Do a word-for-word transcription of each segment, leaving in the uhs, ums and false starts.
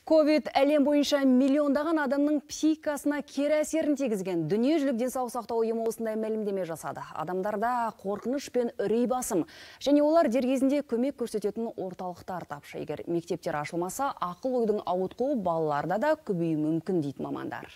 ковид әлем бойынша миллиондаған адамның психикасына кері әсерін тигізген. Дүниежүзілік денсаулық сақтау ұйымы осындай мәлімдеме жасады. Адамдарда қорқыныш пен үрей басым, және олар дер кезінде көмек көрсететін орталықтар тапшы. Егер мектептер ашылмаса, ақыл ойдың ауытқуы балаларда да көбеюі мүмкін дейді мамандар.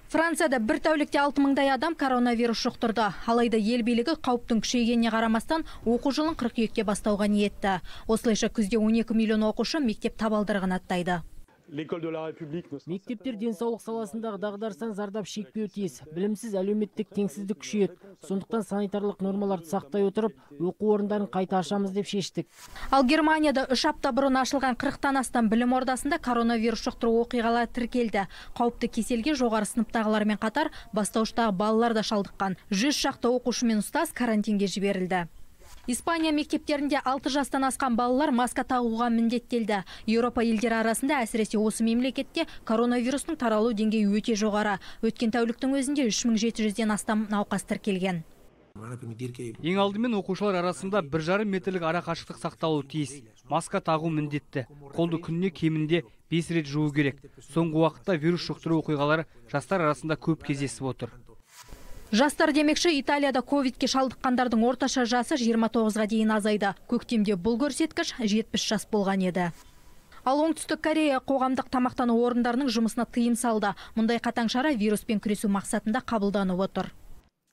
Францияда бір тәулікте алты мыңдай адам коронавирус жұқтырды. Алайда ел билігі қауіптің күшейгеніне қарамастан оқу жылын қыркүйекте бастауға ниетті. Осылайша күзде он екі миллион оқушы мектеп табалдырығын аттайды. Мектептер денсаулық саласындағы дағдарыстан зардап шекпеуі тиіс. Білімсіз әлеуметтік теңсіздік күшейеді. Сондықтан санитарлық нормаларды сақтай отырып, оқу орындарын қайта ашамыз деп шештік. Ал Германияда үш апта бұрын ашылған қырықтан астам білім ордасында коронавирус жұқтыру оқиғалары тіркелді. Қауіпті кеселге жоғары сыныптағылармен қатар бастауыштағы балалар да шалдыққан. жүз шақты оқушы мен ұстаз карантинге жіберілді. Испания мектептерінде алты жастан асқан балалар маска тағуға міндеттелді. Еуропа елдері арасында әсіресе осы мемлекетте коронавирустың таралу деңгейі өте жоғары. Өткен тәуліктің өзінде үш мың жеті жүзден астам науқас тіркелген. Ең алдымен оқушылар арасында бір жарым метрлік ара қашықтық сақталуы тиіс. Маска тағу міндетті. Қолды күніне кемінде бес рет жуу керек. Соңғы уақытта вирус жұқтыру оқиғалары жастар арасында көп кездесіп отыр. Жастар демекші, Италияда ковидке шалдыққандардың орташа жасы жиырма тоғызға дейін азайды. Көктемде бұл көрсеткіш жетпіс жас болған еді. Ал Оңтүстік Корея қоғамдық тамақтану орындарының жұмысына тыйым салды. Мұндай қатаң шара вируспен күресу мақсатында қабылданып отыр.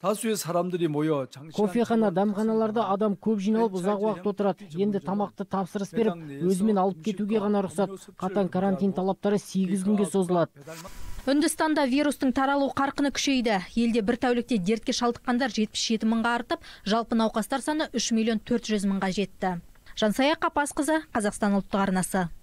Кофехана, дәмханаларда адам көп жиналып ұзақ уақыт отырады. Енді тамақты тапсырыс беріп, өзімен алып кетуге ғана рұқсат. Қатаң карантин талаптары сегіз күнге созылады. Үндістанда вирустың таралу қарқыны күшейді. Елде бір тәулікте дертке шалдыққандар жетпіс жеті мыңға артып, жалпы науқастар саны үш миллион төрт жүз мыңға жетті. Жансая Қапасқызы, Қазақстан ұлттық арнасы.